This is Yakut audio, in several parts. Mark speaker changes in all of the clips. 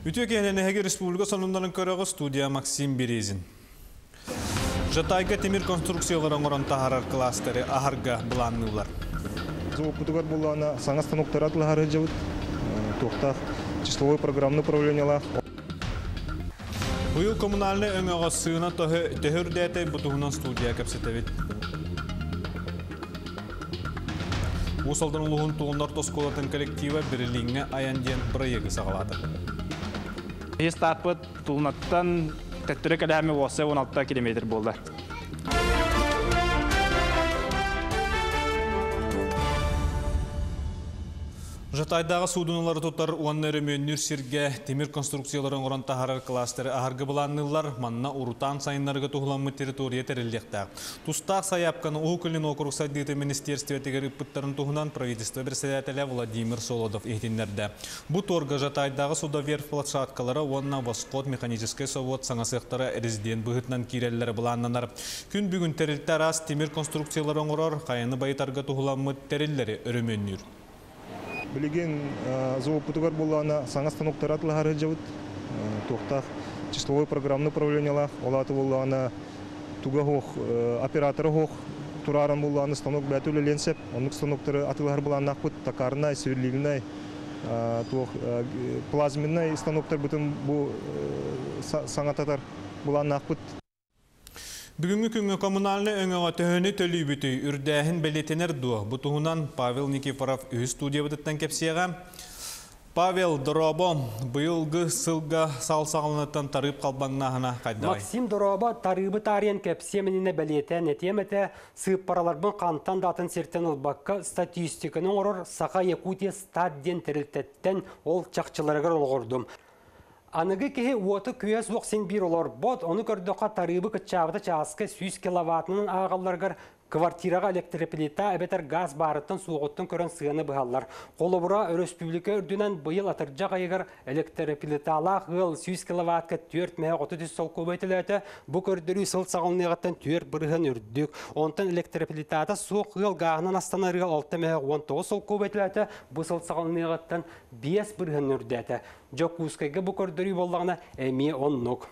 Speaker 1: Үтүө киэһэнэн, эһиги республика сонуннарын көрөҕүт, студия Максим Березин. Жатайга тимир конструкциялары оҥорон таһаарар кластеры аһарга былаанныыллар.
Speaker 2: Заводпутугар буллаана саҥа станоктары атылаһар сылдьабыт. Туохтаах числовой программный управлениялаах.
Speaker 1: Быйыл коммунальнай өҥөҕө сыана төһө үрдээтэ, бу туһунан студия кэпсэтэбит. Уус Алдан улууһун Тулун орто оскуолатын коллектива Берлиҥҥэ айан диэн бырайыагы саҕалаата.
Speaker 3: Биһи стартпыт Тулунаттан төттөрү кэлээми уосса 16 километр буолла.
Speaker 1: Жатайдааҕы суудуналары тутар уонна өрөмүөннүүр сиргэ тимир конструкциялары оҥорон таһаарар кластеры аһарга былаанныыллар. Манна урутаан сайыннарыга туһуламмыт территория тэриллиэхтээх. Тустаах сайаапканы Уһук Илин уокурук сайдыыта министиэристибэтигэр ыыппыттарын туһунан правительство председателэ Владимир Солодов иһитиннэрдэ. Бу торга Жатайдааҕы судоверфь площадкалара уонна Восход механическай собуот саҥа сыахтара резидент быһыытынан киирэллэрэ былааннанар. Күн бүгүн тэрилтэ араас тимир конструкциялары оҥорор, хайаны байытарга туһуламмыт тэриллэри өрөмүөннүүр.
Speaker 2: Билигин заводпутугар буоллаҕына саҥа станоктары атылаһар сылдьабыт. Туохтаах числовой программный управлениялаах, ол аата буоллаҕына туга суох, оператора суох турааран буоллаҕына станок бэйэтэ үлэлиэн сөп. Оннук станоктары атыылаһар былааннаахпыт. Токарнай, сверлильнай, туох плазменнай станоктарбытын бу саҥататар былааннаахпыт.
Speaker 1: Бүгүҥҥү күҥҥэ коммунальнай өҥөҕө төһөнү төлүүбүтүй, үрдээһин бэлиэтэнэр дуо? Бу туһунан Павел Никифоров үһүс студиябытыттан кэпсиэҕэ. Павел, дорообо, быйылгы сылга сал саҕаланыттан тарыып халбаҥнааһына хайдаҕый?
Speaker 4: Максим, дорообо, тарыыбы таарыйан кэпсиэм иннинэ бэлиэтээн этиэм этэ, сыыппараларбын хантан да атын сиртэн ылбакка статистиканы оҥорор Саха Якутия Стат диэн тэрилтэттэн ол чахчыларыгар олоҕурдум. Аныгы киһи уоту күөс суох син биир олорбот, ону көрдөххө тарыыбы кыччаабыта чааска 100 киловаттынан ааҕалларыгар квартираҕа электроплита эбэтэр газ баарыттан суоҕуттан көрөн сыана быһаллар. Холобура, өрөспүүбүлүкэ үрдүнэн быйыл атырдьах ыйыгар электроплиталаах ыал 100 киловаттка 4 мөһө 33 солкуобай төлөөтө. Бу көрдөрүү сыл саҕаланыаҕыттан 4% үрдүк. Онтон электроплитата суох ыал гааһынан астанар ыал 6 мөһө 19 солкуобай төлөөтө. Бу сыл саҕаланыаҕыттан 5% үрдээтэ. Дьокуускайга бу көрдөрүү буоллаҕына эмиэ оннук.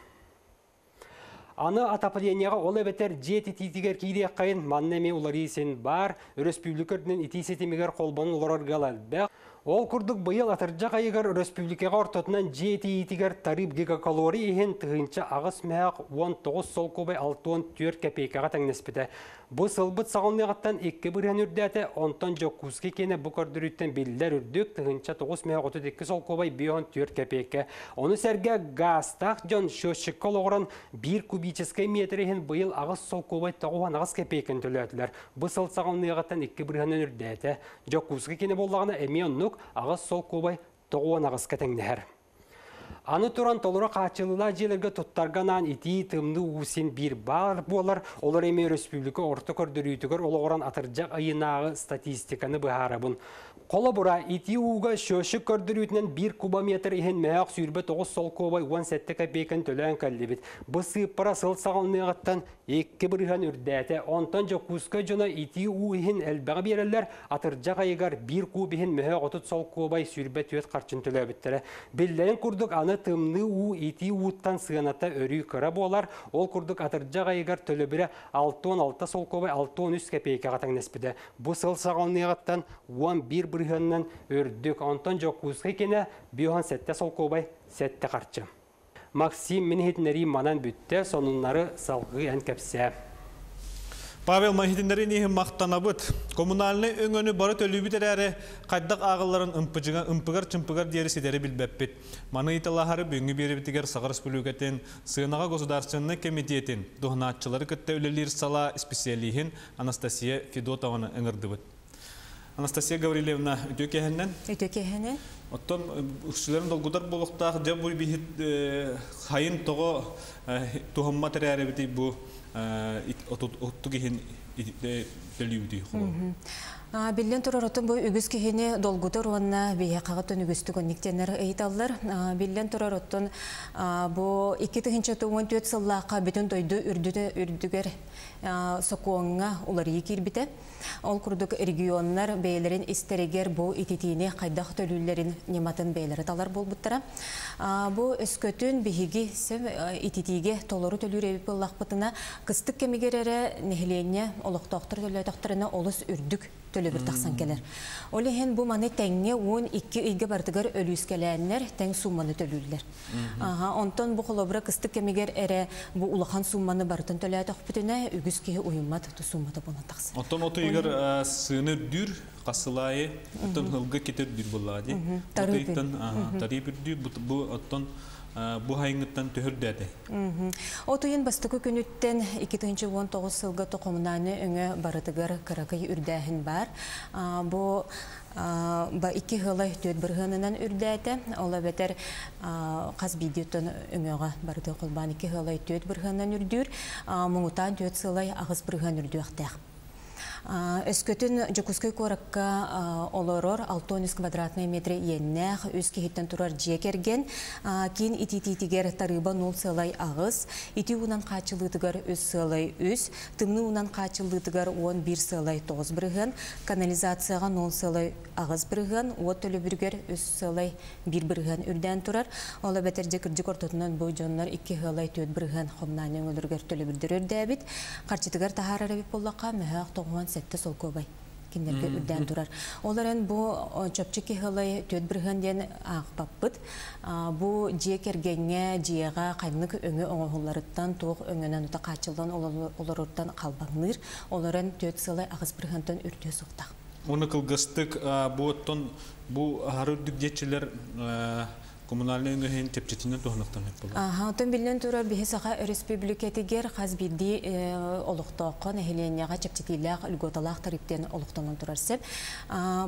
Speaker 4: Аны отоплениеҕа ол эбэтэр дьиэ ититиитигэр киириэххэйин, манна эмиэ уларыы син баар. Өрөспүүбүлүкэ үрдүнэн итии ситимигэр холбонон олорор ыал элбэх. Ол курдук быйыл атырдьах ыйыгар өрөспүүбүлүкэҕэ ортотунан дьиэ итийиитигэр тарыып гигакалорий иһин 1008 19 солкуобай 64 кэпиэйкэҕэ тэҥнэспитэ. Бу сылбыт саҕаланыаҕыттан 2% үрдээтэ, онтон Дьокуускай киэнэ бу көрдөрүүттэн биллэр үрдүк 1932 солкуобай 54 кэпиэйкэ. Ону сэргэ гаастаах дьон счетчикка олоҕуран 1 кубическай метр иһин быйыл 8 солкуобай 98 кэпиэйкэни төлөөтүлэр. Бу сыл саҕаланыаҕыттан 2% үрдээтэ. Дьокуускай киэнэ буоллаҕына эмиэ оннук 8 солкуобай 98-ка тэҥнэһэр. Аны туран толору хааччылыылаах дьиэлэргэ туттарга анаан итии, тымныы уу син биир баар буолар. Олор эмиэ өрөспүүбүлүкэ орто көрдөрүүтүгэр олоҕуран атырдьах ыйынааҕы статистиканы быһаарабын. Холобура, итии ууга счетчик көрдөрүүтүнэн 1 кубометр иһин мөһөөх 29 солкуобай 17 копейканы төлөөн кэллибит. Бу сыыппара сыл саҕаланыаҕыттан 2% үрдээтэ. Онтон Дьокуускай дьоно итии уу иһин элбэҕи биэрэллэр, атырдьах ыйыгар 1 куб иһин мөһөөх 30 солкуобай 24 харчын төлөөбүттэрэ. Биллэрин курдук, аны тымныы уу итии ууттан сыаната өрүү кыра буолар. Ол курдук атырдьах ыйыгар төлөбүрэ 66 солкуобай 63 кэпиэйкэҕэ тэҥнэспитэ. Бу сыл саҕаланыаҕыттан 11 бырыһыанынан үрдүк. Онтон Дьокуускай киэнэ 57 солкуобай 7 харчы. Максим, мин иһитиннэриим манан бүттэ, сонуннары салгыы эн кэпсээ.
Speaker 1: Павел, иһитиннэриин иһин махтанабыт. Коммунальнай өҥөнү бары төлүүбүт эрээри, хайдах ааҕылларын ымпыгар-чымпыгар диэри ситэри билбэппит. Маны ыйыталаһары бүгүҥҥү биэрэбитигэр Саха Республикатын Сыанаҕа государственнай кэмитиэтин туһанааччылары кытта үлэлиир салаа специалиһин Анастасия Федотованы ыҥырдыбыт. Анастасия Гаврильевна, үтүө киэһэннэн.
Speaker 5: Үтүө киэһэнэн.
Speaker 1: Оттон үксүлэрин долгутар буолуохтаах, дьэ бу биһит хайын тоҕо туһаммат эрээрибитий бу оттук иһин төлүүбүтүй холобур?
Speaker 5: Биллэн турар, оттон бу үгүс киһини долгутар уонна биһиэхэҕэ оттон үгүстүк оннук диэннэр ыйыталлар. Биллэн турар, оттон бу 2014 сыллаахха бүтүн дойду үрдүгэр сокуоҥҥа уларыйыы киирбитэ. Ол курдук регионнар бэйэлэрин истэригэр бу ититиини хайдах төлүүллэрин ньыматын бэйэлэрэ талар буолбуттара. Бу өскөтүн биһиги ититиигэ толору төлүүр эбит буоллахпытына, кыстык кэмигэр эрэ нэһилиэнньэ олохтоохтор төлөөтөхтөрүнэ олус үрдүк төлөбүр тахсан кэлэр. Ол иһин бу маны тэҥҥэ 12 ыйга барытыгар өлүүскэлээннэр тэҥ суумманы төлүүллэр. Онтон бу холобура кыстык кэмигэр эрэ бу улахан суумманы барытын төлөөтөхпүтүнэ үгүс киһи уйуммат сууммата буолан тахсар.
Speaker 1: Оттон от ыйыгар сыаны үрдүүр, хасылаайы, оттон ылга кетер үрдүүр буоллаҕа дии. От ыйыттан тарыып үрдүүр, бу оттон бу хайыҥыттан төһөрдөөтэй?
Speaker 5: От ыйын бастакы күнүттэн 2019 сылга токомунааны өҥө барытыгар кыракый үрдээһин бар. Бу ба 2 сыла 4 бырыһыанынан үрдээтэ. Ол эбэтэр хас биирдииттэн өҥөҕө барыты холбаан 2 сыла 4 бырыһыанынан үрдүүр. Муҥутаан 4 сыла 8 бырыһыан үрдүөхтээх. Өскөтүн Дьокуускай куоракка олорор 63 квадратный метр иэннээх үс киһиттэн турар дьиэ кэргэн киин итиитиитигэр тарыыба 0,8, ити уунан хааччылыытыгар 3,3, тымныы уунан хааччылыытыгар 11,9 бырыһыан, канализацияҕа 0,8 бырыһыан, уот төлөбүрүгэр 3,1 бырыһыан үрдээн турар. Ол эбэтэр дьэ кырдьык ортотунан бу дьоннор 2,4 бырыһыан хомнаан өҥөлөрүгэр төлөбүрдэр үрдээбит. Харчытыгар таһаарар эбит буоллахха, мөһөөх 97 солкуобай кинилэргэ үрдээн турар. Ол эрэн бу чопчу киһилай 4 бырыһыан диэн аахпаппыт. Бу дьиэ кэргэҥҥэ, дьиэҕэ ханнык өҥө оҥоһулларыттан, туох өҥөнөн ута хааччыллан олоруттан халбаҥныыр. Ол эрэн 4 сылай 8 бырыһыантан үрдүө суохтаах.
Speaker 1: Оны кылгастык бу оттон бу аһары үрдүк диэччилэр коммунальный өҥөһүн чэпчэтинэн туһанахтан эп буолар.
Speaker 5: Аха, оттон биллэн турар биһи Саха Өрөспүүбүлүкэтигэр хас биирдии олохтооххо нэһилиэнньэҕэ чэпчэтиилээх льготалаах тарифтен олохтонон турар сеп.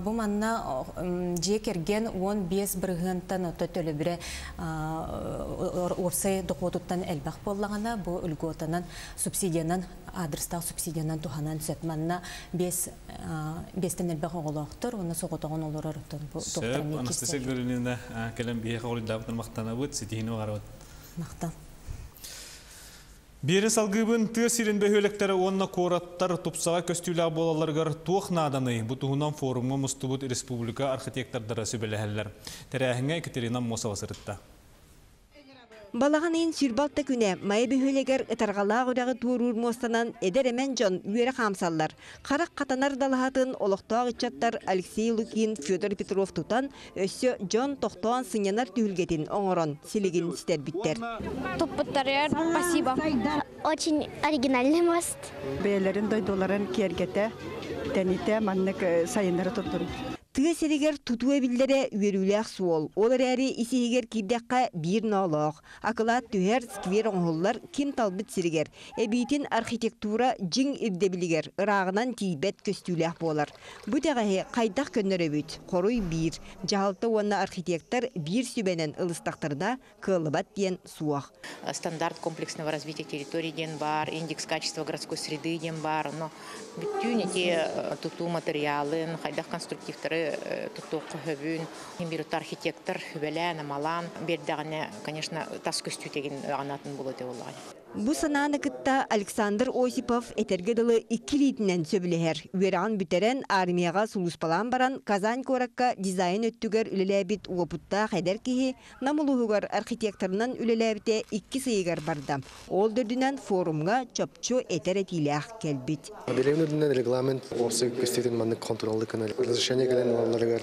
Speaker 5: Бу манна дьиэ кэргэн 15 бырыһыантан ото төлөбүрэ уопсай дохуотуттан элбэх буоллаҕына, бу льготанан субсидиянан адрестаах субсидиянан туһанан сөп. Манна 5-бестен элбэх оҕолоохтор, уонна соҕотоҕун олорор оттон бу
Speaker 1: Сөп, Анастасия Гаврильевна кэлэн биһиэхэ хоруйдаабытын махтанабыт, ситиһиини баҕарабыт.
Speaker 5: Махтал.
Speaker 1: Биэри салгыыбын тыа сирин бөһүөлэктэрэ уонна куораттар тупсаҕай көстүүлээх буолалларыгар туох нааданый? Бу туһунан форумҥа мустубут республика архитектордара сүбэлэһэллэр. Тэрээһиҥҥэ Екатерина Аммосова сырытта.
Speaker 6: Балаҕан ыйын 26 күнэ Майа бөһүөлэгэр Ытарҕалаах үрэҕи туоруур муостанан эдэр-эмэн дьон үөрэ хаамсаллар. Харах хатанар далаһатын олохтоох ыччаттар Алексей Лукин, Федор Петров тутан, өссө дьон тохтоон сынньанар түһүлгэтин оҥорон силигин ситэрбиттэр.
Speaker 7: Туппуттарыгар спасибо. Очень оригинальный мост.
Speaker 8: Бэйэлэрин дойдуларын киэргэтэ, тэнитэ маннык сайыннары турдун.
Speaker 6: Тыа сиригэр тутуу эбиллэрэ үөрүүлээх суол. Ол эрээри ис-иһигэр киирдэххэ биир ноолоох. Акылаат түһэр, сквер оҥоһуллар ким талбыт сиригэр. Эбиитин архитектура дьиҥ ирдэбилигэр ырааҕынан тиийбэт көстүүлээх буолар. Бу итэҕэһи хайдах көннөрөбүт? Хоруй биир. Дьаһалта уонна архитектор биир сүбэнэн ылыстахтарына кыаллыбат диэн суох.
Speaker 9: Стандарт комплексного развития территории диэн баар, индекс качества городской среды диэн баар. Ону бүттүүн ити тутуу материалын, хайдах конструктивтары туттуохха сөбүн, бир архитектор сүбэлээн, амалаан биэрдэҕинэ, конечно, тас көстүү аҕанатын буолуо буоллаҕа.
Speaker 6: Бу санааны кытта Александр Осипов этэргэ дылы икки илиитинэн сөбүлэһэр. Үөрэҕин бүтэрэн, армияҕа сулууспалаан баран, Казань куоракка дизайн өттүгэр үлэлээбит уопуттаах эдэр киһи Нам улууһугар архитекторынан үлэлээбитэ 2 ыйыгар барда. Ол дөрдүнэн форумҥа чопчу этэр этиилээх кэлбит.
Speaker 10: Билигин үрдүнэн регламент уопсай көстүүтүн маннык контроллы кынар. Разрешение кэлэн ылалларыгар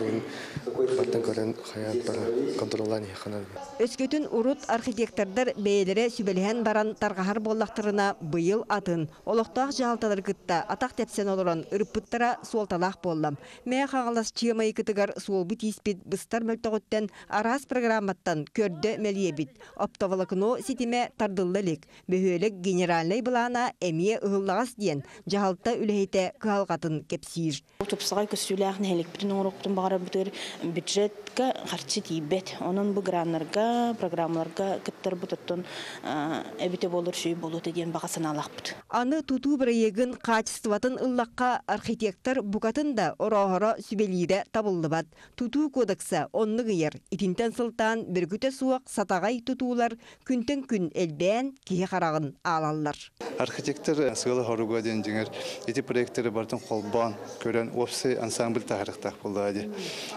Speaker 10: баттан көрөн хайаан бара контроллаан иһэхханар.
Speaker 6: Өскөтүн урут архитектордар бэйэлэрэ сүбэлэһэн баран тарҕаһар буоллахтарына быйыл атын олохтоох дьаһалталары кытта атах тэпсэн олорон ырыппыттара суолталаах буолла. Мэҥэ Хаҥалас Чыамайыкытыгар суолбут ииспит быстар мөлтөҕүттэн араас программаттан көрдө мэлийэбит. Оптоволокно ситимэ тардылла илик. Бөһүөлэк генеральнай былаана эмиэ ыһыллаҕас диэн дьаһалта үлэһитэ кыһалҕатын кэпсиир.
Speaker 11: Тупсаҕай көстүүлээх нэһиликпитин оҥоруохпутун баҕарарбытыгар бюджетка харчы тиийбэт. Онон бу граннарга, программаларга кыттарбыт оттон эбитэ буоллар. болор шүй болута диэн баҕа санаалаахпыт.
Speaker 6: Аны тутуу бырайыагын хаачыстыбатын ыллахха, архитектор букатын да орооһоро, сүбэлиирэ табыллыбат. Тутуу кодекса оннук ыйар. Итинтэн сылтаан бөрүкүтэ суох сатаҕай тутуулар күнтэн күн элбээн киһи хараҕын аалаллар.
Speaker 12: Архитектор сыала-соруга диэн дьиҥэр ити проекттары барытын холбоон көрөн уопсай ансамбль таһаарыахтаах буоллаҕа дии.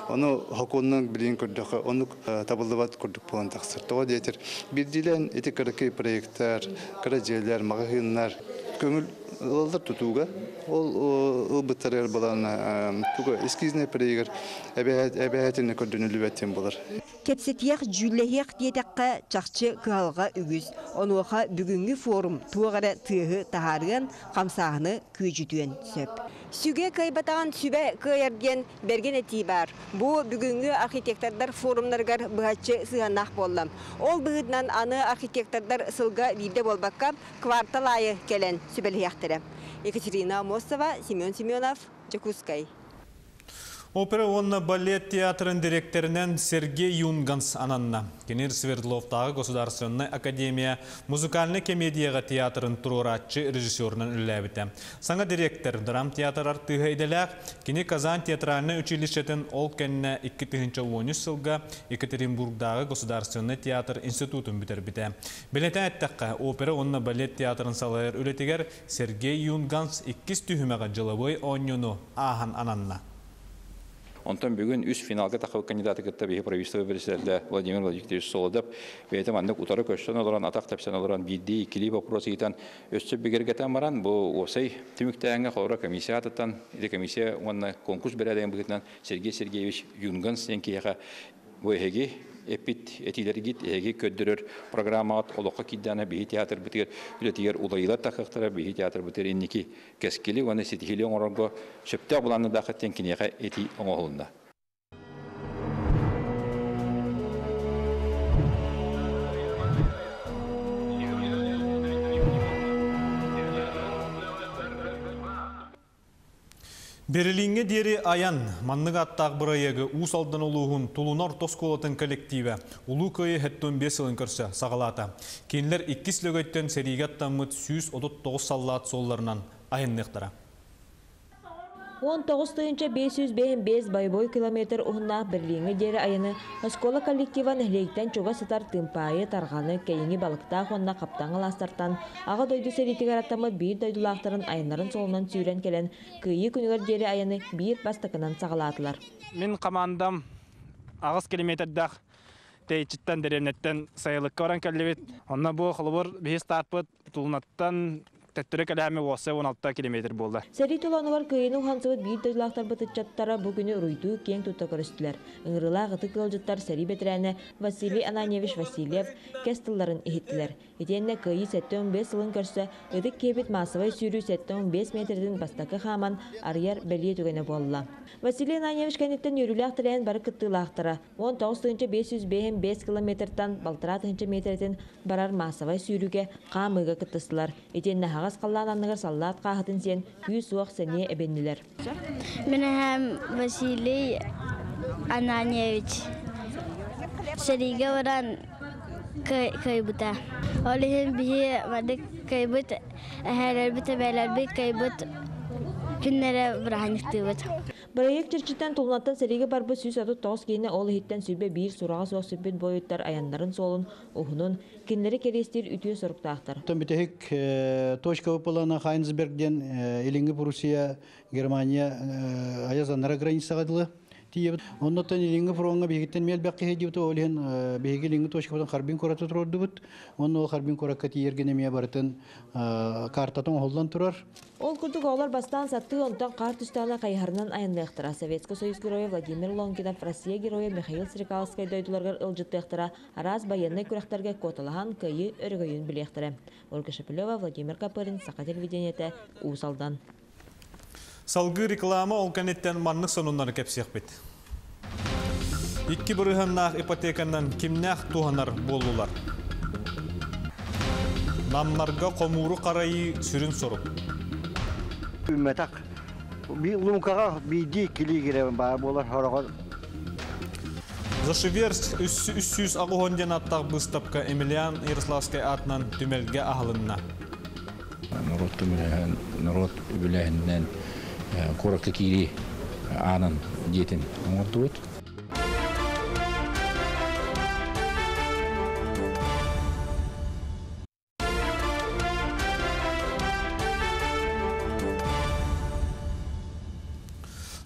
Speaker 12: Ону сокуонунан билигин көрдөххө оннук табыллыбат курдук буолан тахсар. Тоҕо диэтэр биирдиилээн ити кыракый проекттар, кыра дьиэлэр, маҕаһыыннар көҥүл ылаллар тутууга. Ол ылбыттарыгар балаана туга эскизнай проегар эбэһээтинэ көрдөнүллүбэт диэн буолар.
Speaker 6: Кэпсэтиэх, дьүүллэһиэх диэтэххэ, чахчы кыһалҕа үгүс. Онуоха бүгүҥҥү форум туох эрэ тыаһы таһаарыан, хамсааһыны күөдьүтүөн сөп. Сүгэ кыайбатаҕын сүбэ кыайар диэн бэргэн этии баар. Бу бүгүҥҥү архитектордар форумнарыгар быһаччы сыһыаннаах буолла. Ол быһыытынан аны архитектордар сылга биирдэ буолбакка, квартал аайы кэлэн сүбэлэһиэхтэрэ. Екатерина Амосова, Семен Семенов, Дьокуускай.
Speaker 1: Опера уонна балет театрын дириэктэринэн Сергей Юнганс ананна. Кини Свердловтааҕы государственнай академия музыкальнай комедияҕа театрын туруорааччы режиссерунан үлэлээбитэ. Саҥа дириэктэр драмтеатр артыыһа идэлээх, кини Казань театральнай училищетын ол кэннэ 2013 сылга Екатеринбургдааҕы государственнай театр институтун бүтэрбитэ. Бэлиэтээн эттэххэ, опера уонна балет театрын салайар үлэтигэр Сергей Юнганс иккис түһүмэҕи дьылабыай оонньууну ааһан ананна.
Speaker 13: Онтон бүгүн үс финалга тахсыбыт кандидаты кытта биһи правительство председателэ Владимир Владимирович Солодов бэйэтэ маннык утары көрсөн олорон, атах тэпсэн олорон биирдии иккилии вопрос ыйытан өссө бигэргэтэн баран бу уопсай түмүктээҥҥэ холобура комиссия аатыттан ити комиссия уонна конкурс бэрээдэгин быһыытынан Сергей Сергеевич Юнганс диэн киһиэхэ бу эһиги эппит этиилэргит, эһиги көрдөрөр программаҕыт олоххо киирдэҕинэ биһи театрбытыгар үлэтигэр уларыйыылар тахсыахтара, биһи театрбытыгар инники кэскили уонна ситиһиили оҥорорго сөптөөх былааннадааххыт диэн киниэхэ этии оҥоһулунна.
Speaker 1: Берлиҥҥэ диэри айан маннык ааттаах бырайыагы Уус Алдан улууһун Тулуна орто оскуолатын коллективэ Улуу Кыайыы 75 сылын көрсө саҕалаата. Кинилэр иккис Лөгөйтөн сэриигэ аттаммыт 139 саллаат суолларынан айанныахтара.
Speaker 14: 19 555 боевой километр уһуннаах Берлиҥҥэ диэри айаны оскуола коллектива нэһилиэктэн чугас сытар Тыымпаайы, Тарҕаны, Кэйиҥи Балыктаах уонна Хаптаҥ алаастартан Аҕа дойду сэриитигэр аттаммыт биир дойдулаахтарын айаннарын суолунан сүүрэн кэлэн Кыайыы күнүгэр диэри айаны биир бастакынан саҕалаатылар.
Speaker 3: Мин командам 8 километрдаах тэйиччиттэн дэриэбинэттэн сайылыкка баран кэллибит. Онно бу холобур биһи стартпыт Тулунаттан төттөрү кэлээми уоссай 16 километр буолла.
Speaker 14: Сэрии толоонугар кыайыыны уһансыбыт биир дойдулаахтарбыт ыччаттара бу күнү уруйдуу киэҥ тутта көрүстүлэр. Ыҥырыылаах ытык ыалдьыттар сэрии бэтэрээнэ Василий Ананьевич Васильев кэс тылларын иһиттилэр. Итиэннэ Кыайыы 75 сылын көрсө ытык киһибит маассабай сүүрүү 75 миэтэрэтин бастакы хааман арыйар бэлиэ түгэнэ буолла. Василий Ананьевич кэнниттэн үөрүүлээх тэрээһин бары кыттыылаахтара 19 555 километртан балтараа тыһыынча миэтэрэтин барар маассабай сүүрүүгэ хаамыыга кыттыстылар. Итиэннэ аһаҕас халлаан анныгар саллаат хааһытын сиэн күүс-уох сэниэ эбиннилэр.
Speaker 7: Мин эһэм Василий Ананьевич сэриигэ баран кыайбыта. Ол иһин биһи маннык кыайбыт эһээлэрбит, эбээлэрбит кыайбыт күннэрэ бырааһынньыктыыбыт.
Speaker 14: Бырайыак чэрчитинэн Тулунаттан сэриигэ барбыт 139 киһини ол иһиттэн 101 сураҕа суох сүппүт буойуттар айаннарын суолун уһунун кинилэри кэриэстиир үтүө соруктаахтар.
Speaker 15: Бүтэһик точка выполнена Хайнсберг диэн Илиҥҥи Пруссия, Германия айазаннара границаҕа дылы тиийэбит. Оннуттан Илиҥҥи фроҥҥа биһигиттэн миэлбэх киһи диэбит ол иһин биһиги Илиҥҥи точкабытын Харбин куораты туруордубут. Онно ол Харбин куоракка тиийэргин эмиэ барытын картатын оҥоһуллан турар.
Speaker 14: Ол курдук оҕолор бастаан сатыы онтон хаар түстэҕинэ хайыһарынан айанныахтара. Советскай Союз Геройа Владимир Лонгинов, Россия Геройа Михаил Стрекаловскай дойдуларыгар ыалдьыттыахтара, араас байыаннай күрэхтэргэ куоталаһан кыайыы өрөгөйүн билиэхтэрэ. Ольга Шепелева, Владимир Копырин, Саха телевидениетэ, Уус Алдан.
Speaker 1: Салгыы реклама ол кэнниттэн маннык сонуннары кэпсиэхпит. 2 бырыһыаннаах ипотеканан кимнээх туһанар буоллулар? Намнарга хомууру харайыы сүрүн сорук.
Speaker 16: Үмметак луҥкаҕа биирдии килии киирэн баар буолар хороҕор.
Speaker 1: Зашиверск 300 диэн аттаах быыстапка Емельян Ярославскай аатынан түмэлгэ аһылынна.
Speaker 17: Норуот түмэлэһэн, норуот үбүлээһининэн куоракка киирии аанын дьиэтин оҥордубут.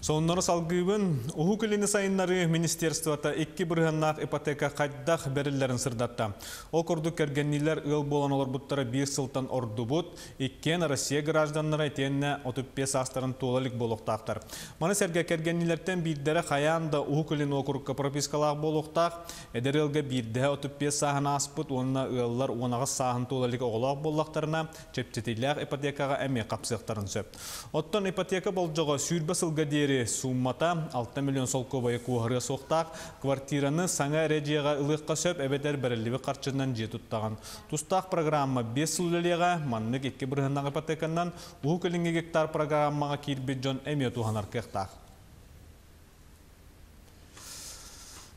Speaker 1: Сонуннары салгыыбын. Уһук Илини сайыннарыы министерствота 2 бырыһыаннаах ипотека хайдах бэриллэрин сырдатта. Ол курдук кэргэнниилэр ыал буолан олорбуттара 1 сылтан ордубут, иккиэн Россия гражданнара итиэннэ 35 саастарын туола илик буолуохтаахтар. Маны сэргэ кэргэнниилэртэн биирдэрэ хайаан да Уһук Илин уокурукка пропискалаах буолуохтаах, эдэр ыалга биирдэһэ 35 сааһын ааспыт уонна ыаллар 18 сааһын туола илик оҕолоох буоллахтарына чэпчэтиилээх ипотекаҕа эмиэ хапсыахтарын сөп. Оттон ипотека болдьоҕо 20 сылга диэри, сууммата 6 миллион солкуобайы куоһарыа суохтаах, квартираны саҥа эрэ дьиэҕэ ылыахха сөп эбэтэр бэриллибит харчынан дьиэ туттаҕын. Тустаах программа 5 сыл үлэлиэҕэ, маннык 2 бырыһыаннаах ипотеканан Уһук Илиҥҥи гектар программаҕа киирбит дьон эмиэ туһанар кыахтаах.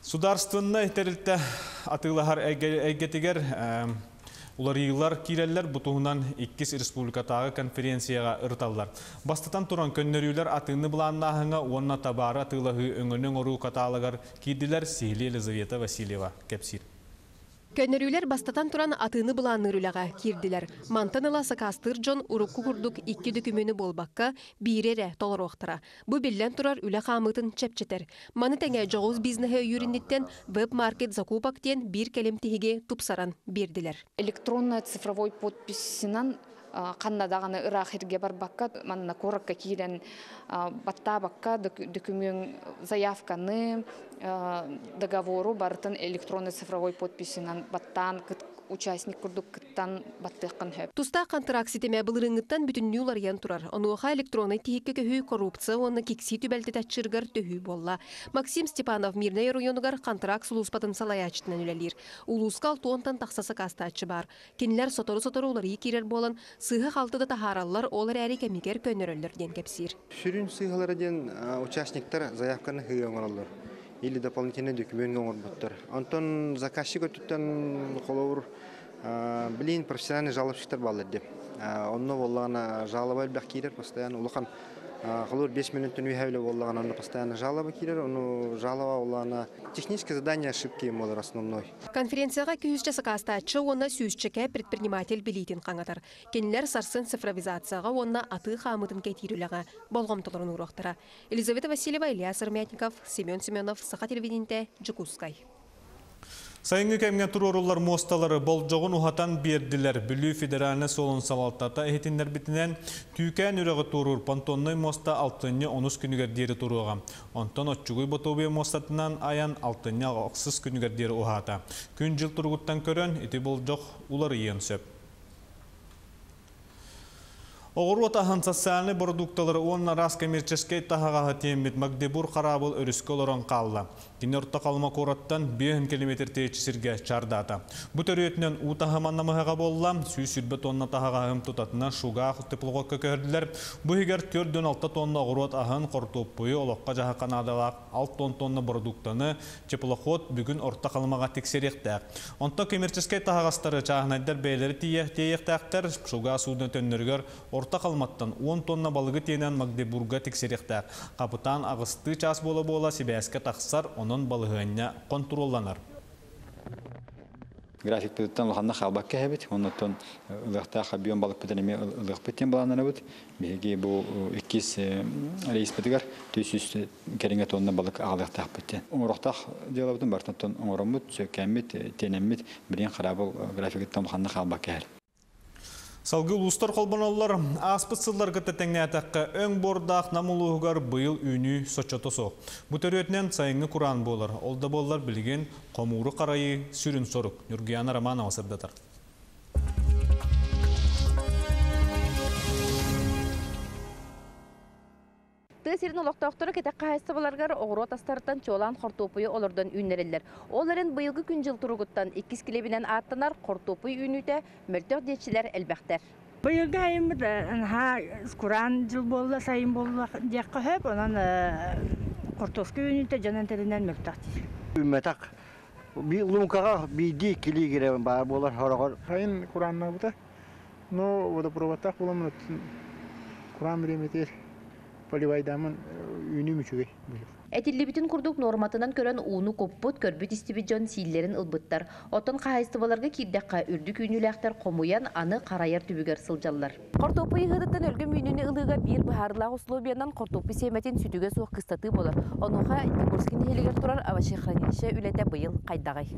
Speaker 1: Судаарыстыбаннай тэрилтэ атыылаһар эйгэтигэр уларыйыылар киирэллэр, бу туһунан иккис республикатааҕы конференцияҕа ырыталлар. Бастатан туран көннөрүүлэр атыыны былааннааһыҥҥа уонна табаары атыылаһыы өҥөнү оҥоруу каталогар киирдилэр. Сиһилии Елизавета Васильева кэпсиир.
Speaker 18: Көннөрүүлэр бастатан туран атыыны былаанныыр үлэҕэ киирдилэр. Мантан ыла сакаастыыр дьон урукку курдук икки дөкүмүөнү буолбакка, биири эрэ толоруохтара. Бу биллэн турар үлэ хаамыытын чэпчэтэр. Маны тэҥэ дьоҕус бизнеһи өйүүр инниттэн веб-маркет закупок диэн биир кэлим тиһиги тупсаран биэрдилэр.
Speaker 19: Электронная цифровой подписынан ханна даҕаны ыраах сиргэ барбакка, манна куоракка киирэн баттаабакка дөкүмүөн заявканы, договору барытын электронный цифровой подписынан баттаан участник курдук кыттан баттыаххын сөп.
Speaker 18: Тустаах контракт ситимэ былырыыҥҥыттан бүтүннүү уларыйан турар. Онуоха электроннай тиһиккэ көһүү коррупция уонна киксии түбэлтэтэ аччыырыгар төһүү буолла. Максим Степанов Мирнэй оройуонугар контракт сулууспатын салайааччытынан үлэлиир. Улууска 60-тан тахса сакаастааччы баар. Кинилэр сотору-сотору уларыйыы киирэр буолан, сыыһа-халты да таһаараллар, ол эрээри кэмигэр көннөрөллөр диэн кэпсиир.
Speaker 10: Сүрүн сыыһалара диэн участниктар заявканы сыыһа оҥороллор или дополнительный документ оҥорботтор. Онтон заказчик өттүттэн холобур билигин профессиональный жалобщиктар бааллар диэн. Онно буоллаҕына жалоба элбэх киирэр, постоянно улахан холобур 5 минуттан үөһэ үлэ буоллаҕына онно постоянно жалоба киирэр, ону жалоба буоллаҕына техническое задание ошибки буолар основной.
Speaker 18: Конференцияҕа 200-чэ сакаастааччы уонна 100-чэкэ предприниматель билиитин хаҥатар. Кинилэр сарсын цифровизацияҕа уонна атыы хаамыытын кэтиир үлэҕэ болҕомтолорун ууруохтара. Елизавета Васильева, Илья Сырмятников, Семен Семенов, Саха телевидениетэ, Дьокуускай.
Speaker 1: Сайыҥҥы кэмҥэ туруоруллар муосталары болдьоҕун уһатан биэрдилэр. Бүлүү федеральнай суолун салалтата иһитиннэрбитинэн, Түүкээн үрэҕи туоруур понтоннай муоста алтынньы 10-ус күнүгэр диэри туруоҕа. Онтон Оччугуй Ботуобуйа муостатынан айан алтынньы 6-ыс күнүгэр диэри уһаата. Күн-дьыл туругуттан көрөн, ити болдьох уларыйыан сөп. Оҕуруот аһын, социальнай бородуукталары уонна араас коммерческай таһаҕаһы тиэммит Магдебург хараабыл өрүскэ олорон хаалла. Кини Орто Халыма куораттан 5 километр тэйиччи сиргэ чаардаата. Бу төрүөтүнэн уу таһыма намыһаҕа буолла, 120 тонна таһаҕаһы тутатына Шугаах теплоходка көһөрдүлэр. Бу иһигэр 46 тонна оҕуруот аһын, хортуоппуйу, олоххо-дьаһахха наадалаах 6 тонна бородууктаны теплоход бүгүн Орто Халымаҕа тиксэриэхтээх. Онтон коммерческай таһаҕастары чааһынайдар бэйэлэрэ тиэйиэхтээхтэр. Шуга судно төннөрүгэр Орто Халыматтан 10 тонна балыгы тиэнэн Магдебурга тиксэриэхтээх. Хапытаан 8-тыы чаас буола-буола сибээскэ тахсар, онон балаһыанньа хонтуруолланар.
Speaker 13: Графикпытыттан улаханна хаалбакка иһэбит. Оннуттан ылыахтаах объем балыкпытын эмиэ ылыахпыт диэн былааннанабыт. Биһиги бу иккис рейспитигэр 400 кэриҥэ тонна балык аҕалыахтаахпыт диэн. Оҥоруохтаах дьыалабытын барытын оҥороммут, сөккэммит, тиэнэммит, билигин хараабыл графигыттан улаханна хаалбакка иһэр.
Speaker 1: Салгыы улуустар холбоноллор. Ааспыт сылларга тэҥнээтэххэ өҥ буордаах Нам улууһугар быйыл үүнүү соччото суох. Бу төрүөтүнэн сайыҥҥы кураан буолар. Ол да буоллар билигин хомууру харайыы сүрүн сорук. Ньургуяна Романова сырдатар.
Speaker 20: Тыа сирин олохтоохторо кэтэх хаһаайыстыбаларыгар оҕуруот астарыттан чуолаан хортуоппуйу олордон үүннэрэллэр. Ол эрэн быйылгы күн-дьыл туругуттан иккис килиэбинэн ааттанар хортуоппуй үүнүүтэ мөлтөх диэччилэр элбэхтэр.
Speaker 21: Быйылгы сайыммыт наһаа кураан дьыл буолла, сайын буолла диэххэ сөп. Онон хортуоска үүнүүтэ дьон этэринэн мөлтөх диир.
Speaker 16: Үүммэтэх. Луҥкаҕа биирдии иккилии киирэ баар буолар сороҕор.
Speaker 2: Сайын курааннаабыта. Но водопроводтаах буоламмын кураан бириэмэтигэр поливайдааммын үүнүүм үчүгэй быйыл.
Speaker 20: Этиллибитин курдук нуорматынан көрөн ууну куппут, көрбүт-истибит дьон сииллэрин ылбыттар. Оттон хаһаайыстыбаларга киирдэххэ, үрдүк үүнүүлээхтэр хомуйан, аны харайар түбүгэр сылдьаллар. Хортуоппуй ыһыытыттан өлгөм үүнүүнү ылыыга биир быһаарыылаах условиянан хортуоппуй сиэмэтин сүтүгэ суох кыстатыы буолар. Онуоха Дегорский нэһилиэгэр турар овощехранилище үлэтэ быйыл хайдаҕый?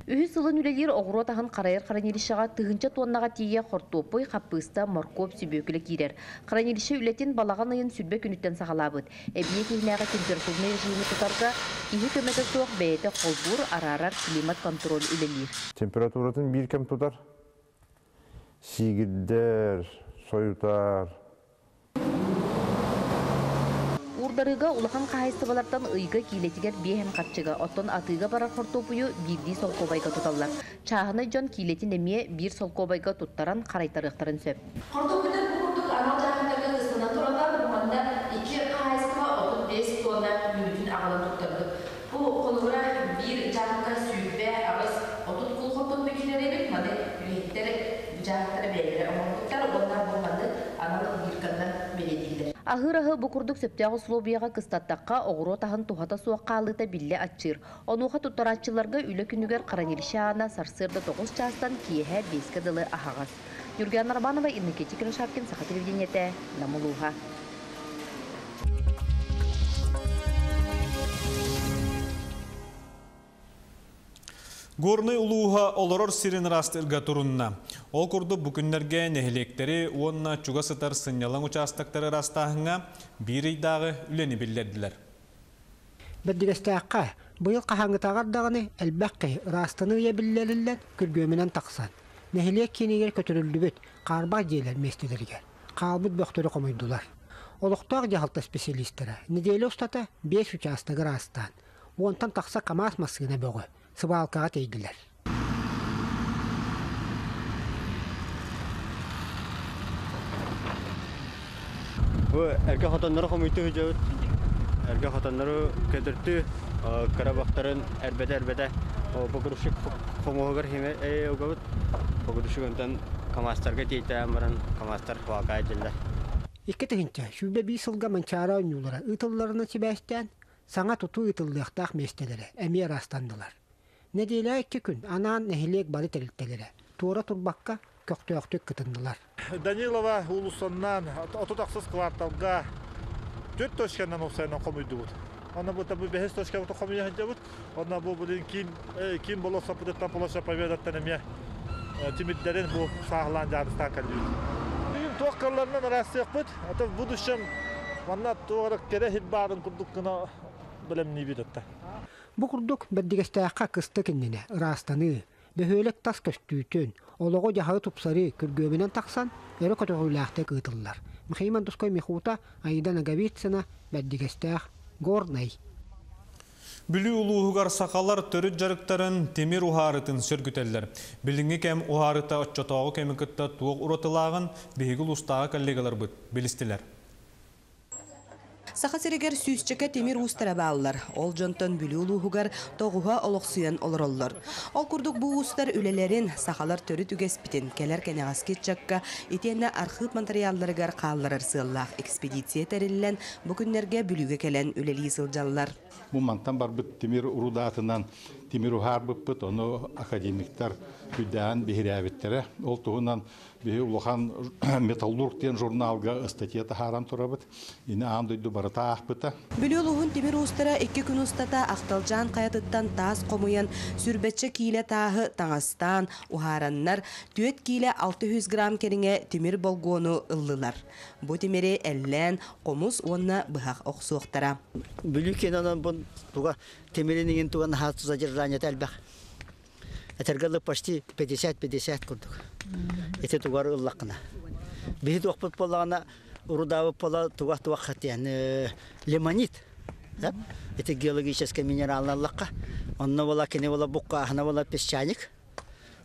Speaker 20: Үһүс сылын үлэлиир оҕуруот аһын харайар хранилищеҕа тыһыынча туоннаҕа тиийэ хортуоппуй, хаппыыста, моркуоп, сүбүөкүлэ киирэр. Хранилище үлэтин балаҕан ыйын сүлбэ күнүттэн саҕалаабыт. Эбийиэк иһинээҕи температурнай режими тутарга киһи көмөтө суох бэйэтэ холбуур, араарар климат-контроль үлэлиир.
Speaker 22: Температуратын биир кэм тутар. Сиигирдэр, сойутар.
Speaker 20: Уурдарыыга улахан хаһаайыстыбалартан ыйга киилэтигэр биэһэн харчыга, оттон атыыга барар хортуоппуйу биирдии солкуобайга туталлар. Чааһынай дьон киилэтин эмиэ биир солкуобайга туттаран харайтарыахтарын сөп. Хортуоппуйдар бу курдук анал дьааһыктарга кыстанан тураллар. Бу манна икки хаһаайыстыба 35 туонна үүтүн аҕалан туттарбыт. Бу холобура биир дьааһыкка 28 30 кул хортуоппуй киирэр эбит. Маны үлэһиттэр бу дьааһыктары бэйэлэрэ оҥорбуттар уонна бу маннык анал бирканнан бэлиэтииллэр. Аһыыр аһы бу курдук сөптөөх условияҕа кыстаттахха, оҕуруот аһын туһата суох хаалыыта биллэ аччыыр. Онуоха туттарааччыларга үлэ күнүгэр хранилище аана сарсыарда 9 чаастан киэһэ 5-кэ дылы аһаҕас. Юргиана Романова, Иннокентий Кривошапкин, Саха телевидениетэ, Нам улууһа.
Speaker 1: Горнай улууһа олорор сирин ыраастыырга турунна. Ол курдук бу күннэргэ нэһилиэктэри уонна чугас сытар сынньалаҥ учаастактары ыраастааһыҥҥа биир ыйдааҕы үлэни биллэрдилэр.
Speaker 23: Бэрдигэстээххэ быйыл хаһааҥҥытааҕар даҕаны элбэх киһи ыраастаныы ыйа биллэриллэн күргүөмүнэн тахсан, нэһилиэк киинигэр көтүрүллүбүт хаарбах дьиэлэр миэстэлэригэр хаалбыт бөхтөрү хомуйдулар. Олохтоох дьаһалта специалистара нэдиэлэ устата биэс учаастагы ыраастаан, уонтан тахса КАМАЗ массыына бөҕө сыбаалкаҕа тиэйдилэр.
Speaker 24: Бу эргэ хотоннору хомуйту сылдьабыт. Эргэ хотоннору көтөртүү кыра бахтарын эрбэтэ-эрбэтэ погрузчик хомуһугар химе угабыт. Погрузчик онтон КАМАЗтарга тиэйтээн баран КАМАЗтар хвалка дьэллэр.
Speaker 23: 2021 сылга Манчаары оонньуулара ыытылларынан сибээстээн Саҥа тутуу ыытыллыахтаах миэстэлэрэ эмиэ ыраастаннылар. Нэдиэлэ икки күн анаан нэһилиэк бары тэрилтэлэрэ туора турбакка көхтөөхтүк кытыннылар.
Speaker 25: Данилова уулуссаннан 36 кварталга төрт точканан уопсайынан хомуйдубут. Онно бу бу бэһис точкабытын хомуйа сылдьабыт. Онно бу билин киин киин болуоссаппытыттан площадь Победаттан эмиэ тимирдэрин бу сааһылаан дьаарыстаан кэллибит. Бүгүн туох кыалларынан ыраастыахпыт. А то в будущем манна туох эрэ кэрэ иһит баарын курдук гына бэлэмниибит атта.
Speaker 23: Бу курдук Бэрдигэстээххэ кыстык иннинэ ыраастаныы, бөһүөлэк тас көстүүтүн, олоҕу-дьаһаҕы тупсарыы күргүөмүнэн тахсан өрө көтөҕүүлээхтик ыытыллар. Михаил Мандускай Михута, Аида Ноговицына, Бэрдигэстээх, Горнай.
Speaker 1: Бүлүү улууһугар сахалар төрүт дьарыктарын тимир уһаарытын сөргүтэллэр. Билиҥҥи кэм уһаарыта оччотооҕу кэми кытта туох уратылааҕын биһиги улуустааҕы коллегаларбыт билистилэр.
Speaker 26: Саха сиригэр сүүсчэкэ тимир уустара бааллар. Ол дьонтон Бүлүү улууһугар тоҕуһа олохсуйан олороллор. Ол курдук бу уустар үлэлэрин, сахалар төрүт үгэспитин кэлэр кэнэҕэски ыччакка итиэннэ архыып матырыйаалларыгар хаалларар сыаллаах экспедиция тэриллэн, бу күннэргэ Бүлүүгэ кэлэн үлэлии сылдьаллар.
Speaker 27: Бу мантан барбыт тимир урудаатынан тимир уһаарбыппыт, ону академиктар күйдээн биһирээбиттэрэ. Ол туһунан биһи улахан «Металлург» диэн журналга ыстатыйа таһааран турабыт. Ини аан дойду барыта аахпыта.
Speaker 26: Бүлүү улууһун тимир уустара икки күн устата Ахталдьаан хайатыттан таас хомуйан, сүүрбэччэ киилэ тааһы таҥастаан, уһаараннар, түөрт киилэ 600 грамм кэриҥэ тимир болгуону ыллылар. Бу тимири эллээн, хомус уонна быһах охсуохтара.
Speaker 28: Бүлүү кинонон бу туга тимирин иҥин туга наһаа задержаниета элбэх. Этэргэ дылы почти 50-50 курдук. Ити тугар ыллаххына. Биһи туохпут буоллаҕына урудаабыт буола туга туох диэн лимонит. Ити геологическай минералын ыллахха. Онно буола кини буола буккааһына буола песчаник.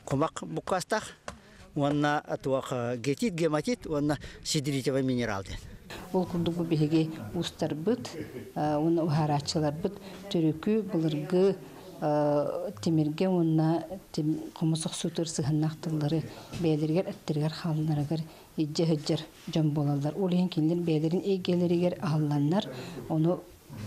Speaker 28: Кумах буккаастаах. Уонна туох гетит, гематит уонна сидеритовый минерал диэн.
Speaker 3: Ол курдук бу биһиги уустарбыт уонна уһаарааччыларбыт төрүкү былыргы тимиргэ уонна хомус охсуутугар сыһыаннаах тыллары бэйэлэригэр эттэригэр хаалларыгар илдьэ сылдьар дьон буолаллар. Ол иһин кинилэр бэйэлэрин эйгэлэригэр аһылланнар, ону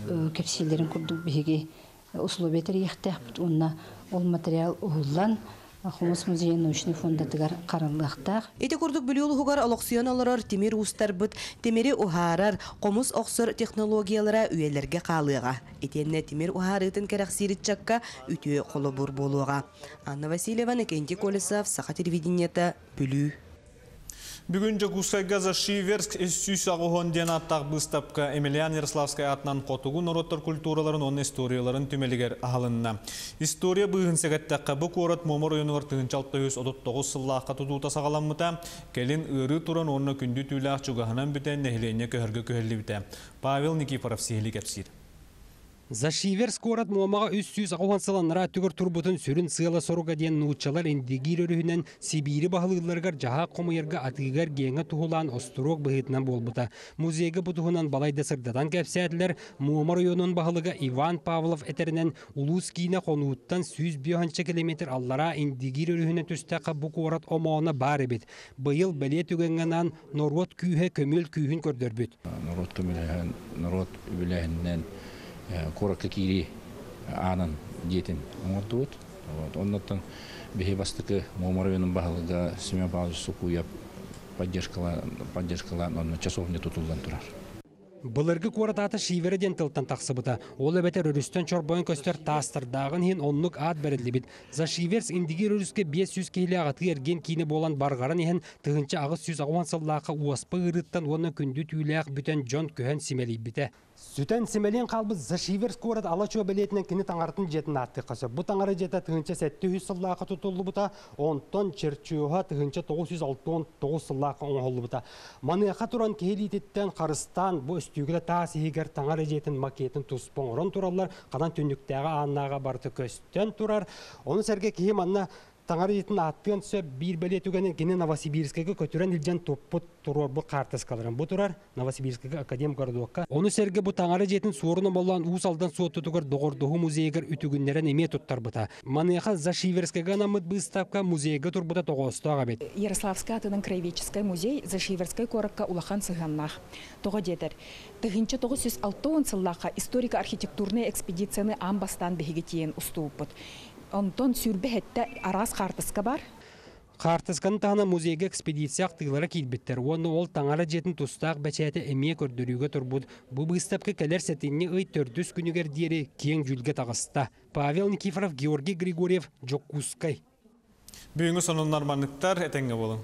Speaker 3: кэпсииллэрин курдук биһиги условия тэрийиэхтээхпит уонна ол материал уһуллан Хомус музейын научнай фондатыгар хараллыахтаах.
Speaker 26: Ити курдук Бүлүү улууһугар олохсуйан олорор тимир уустарбыт тимири уһаарар, хомус охсор технологиялара үйэлэргэ хаалыаҕа. Итиэннэ тимир уһаарыытын кэрэхсиир ыччакка үтүө холобур буолуоҕа. Анна Васильева, Иннокентий Колесов, Саха телевидениета, Бүлүү.
Speaker 1: Бүгүн Дьокуускайга Зашиверск 380 диэн ааттаах быыстапка Емельян Ярославскай аатынан хотугу норуоттар культураларын уонна историяларын түмэлигэр аһылынна. История быыһын сэгэттэххэ, бу куорат Муома оройуонугар 1639 сыллаахха тутуута саҕаламмыта, кэлин ыарыы туран уонна күндү түүлээх чугаһынан бүтэн нэһилиэнньэ көһөргө күһэллибитэ. Павел Никифоров сиһилии кэпсиир.
Speaker 4: Зашиверск куорат Муомаҕа 380 сыл анараа өттүгэр турбутун сүрүн сыала-соруга диэн нууччалар Индигиир өрүһүнэн Сибиири баһылыылларыгар дьаһаах хомуйарга атыыга-эргиэҥҥэ туһулаан остуруок быһыытынан буолбута. Музейга бу туһунан балайда сырдатан кэпсээтилэр. Муома оройуонун баһылыга Иван Павлов этэринэн, улуус киинэ Хонууттан 105 километр аллараа Индигиир өрүһүнэн түстэххэ бу куорат омооно баар эбит. Быйыл бэлиэ түгэҥҥэ анаан норуот күүһэ көмүөл күүһүн көрдөрбүт.
Speaker 17: Норуот көмөлөһөн, норуот үбүлээһининэн куоракка киирии аанын дьиэтин оҥордубут. Оннуттан биһи бастакы Муома оройуонун баһылыга Семен Павлович Сукуев поддержкалаан онно часовня тутуллан турар.
Speaker 4: Былыргы куорат аата Шивера диэн тылтан тахсыбыта. Ол эбэтэр өрүстэн чорбойон көстөр таастардааҕын иһин оннук аат бэриллибит. Зашиверск Индигир өрүскэ 500 киһилээх атыы-эргиэн киинэ буолан барҕаран иһэн 1880 сыллаахха уоспа ыарыыттан уонна күндү түүлээх бүтэн дьон көһөн симэлийбитэ. Сүтэн симэлийэн хаалбыт Зашиверск куорат ала-чуо бэлиэтинэн кини таҥаратын дьиэтин ааттыахха сөп. Бу таҥара дьиэтэ 1700 сыллаахха тутуллубута, онтон чертеһа 1969 сыллаахха оҥоһуллубута. Маныаха туран киһи илиититтэн харыстаан бу өстүүгүлэ таас иһигэр таҥара дьиэтин макетын туспа оҥорон тураллар, ханан түннүктээҕи ааннааҕа барыта көстөн турар. Ону сэргэ киһи манна Таҥара дьиэтин ааттыан сөп биир бэлиэ түгэнин кини Новосибирскайга көтүрэн илдьэн туппут туруорбут хаартыскаларын бу турар Новосибирскайга Академгородокка. Ону сэргэ бу таҥара дьиэтин суорун омоллоон Уус Алдан Суоттутугар Доҕордоһуу музейыгар үтүгүннэрэн эмиэ туттарбыта. Маныаха Зашиверскайга анаммыт быыстапка музейга турбута тоҕоостоох эбит.
Speaker 5: Ярославскай атынан краеведческай музей Зашиверскай куоракка улахан сыһыаннаах. Тоҕо диэтэр, 1960 сыллаахха историко-архитектурнай экспедицияны аан бастаан биһиги тиийэн устубуппут. Онтон 27 араас хаартыска бар.
Speaker 4: Хаартысканы таһынан музейга экспедиция ахтыылара киирбиттэр уонна ол таҥара дьиэтин тустаах бэчээтэ эмиэ көрдөрүүгэ турбут. Бу быыстапка кэлэр сэтинньи ый төрдүс күнүгэр диэри киэҥ дьүүлгэ таҕыста. Павел Никифоров, Георгий Григорьев, Дьокуускай.
Speaker 1: Бүгүҥҥү сонуннар манныктар, этэҥҥэ буолуҥ.